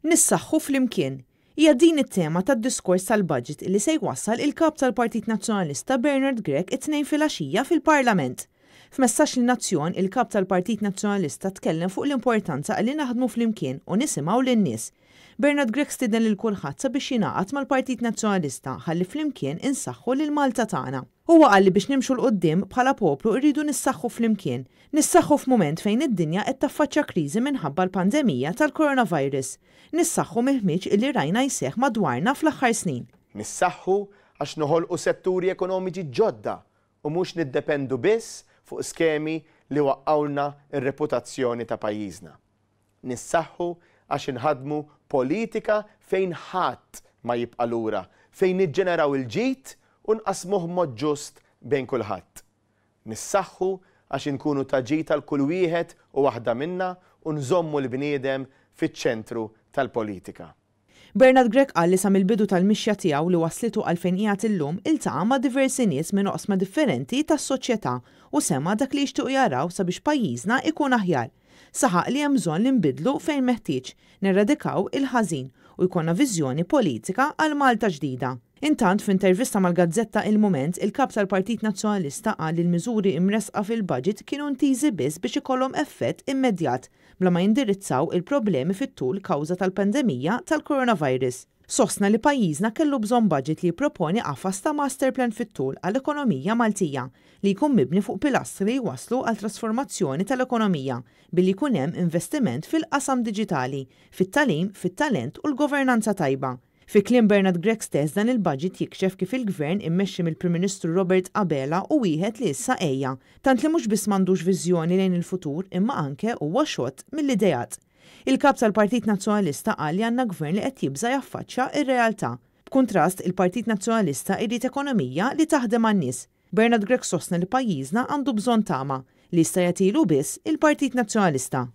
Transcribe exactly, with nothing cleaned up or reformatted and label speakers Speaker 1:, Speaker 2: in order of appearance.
Speaker 1: Nissaħħu flimkien. Hija din it-tema tad-diskors tal-budget li se jwassal il-kap tal-Partit Nazzjonalista Bernard Grech it-Tnejn filgħaxija fil-Parlament. F'messaġġ lin-nazzjon, il-kap tal-Partit Nazzjonalista tkellem fuq l-importanza li naħdmu flimkien u nisimgħu lin-nies. Bernard Grech stieden lil kulħadd sabiex jingħaqad mal-Partit Nazzjonalista ħalli flimkien insaħħu lil Malta tagħna. Huwa qal li biex nimxu 'l quddiem bħala poplu rridu nissaħħu flimkien. Nissaħħu f'mument fejn id-dinja qed taffaċċja kriżi minħabba l-pandemija tal-coronavirus. Nissaħħu mill-ħmiġ illi rajna jseħħ madwarna fl-aħħar snin.
Speaker 2: Nissaħħu għax noħolqu setturi ekonomiċi ġodda u mhux niddependu biss fuq skemi li waqqawlna r-reputazzjoni ta' pajjiżna. Nissaħħu għax inħaddmu politika fejn ħadd ma jibqa' lura, fejn niġġeneraw il-ġid u nqassmuh b'mod ġust bejn kulħadd. Nissaħħu għax inkunu ta' ġid għal kull wieħed u waħda minna u nżommu l-bniedem fiċ-ċentru tal-politika.
Speaker 1: Bernard Grech qal li sa mill-bidu tal-mixja tiegħu li waslitu għal fejn qiegħed illum iltaqa' ma' diversi nies minn oqsma differenti tas-soċjetà u sema' dak li jixtiequ jaraw sabiex pajjiżna ikun aħjar. Saħaq li hemm bżonn li nbiddlu fejn meħtieġ, nerradikaw il-ħażin u jkollna viżjoni politika għal Malta ġdida. Intant, f'intervista mal-gazzetta Il-Mument, il-kap tal-Partit Nazzjonalista qal li l-miżuri imressqa fil-budget kienu intiżi biss biex ikollhom effett immedjat bla ma jindirizzaw il-problemi fit-tul kawża tal-pandemija tal-coronavirus. Sostna li pajjiżna kellu bżonn budget li jipproponi qafas ta' master plan fit-tul għall-ekonomija Maltija li jkun mibni fuq pilastri li jwasslu għal trasformazzjoni tal-ekonomija billi jkun hemm investiment fil-qasam diġitali, fit-tagħlim, fit-talent u l-governanza tajba. Fi kliem Bernard Grech stess, dan il-budget jikxef kif il-gvern immexxi mill-Prim Ministru Robert Abela hu wieħed li issa għejja, tant li mhux biss m'għandux viżjoni lejn il-futur imma anke huwa xott mill-ideat. Il-kap tal-Partit Nazzjonalista qal li għandna gvern li qed jibża' jaffaċċja r-realtà. B'kuntrast, il-Partit Nazzjonalista jrid ekonomija li taħdem għan-nies. Bernard Grech sostna li pajjiżna għandu bżonn tama li jista' jagħtilu biss il-Partit Nazzjonalista.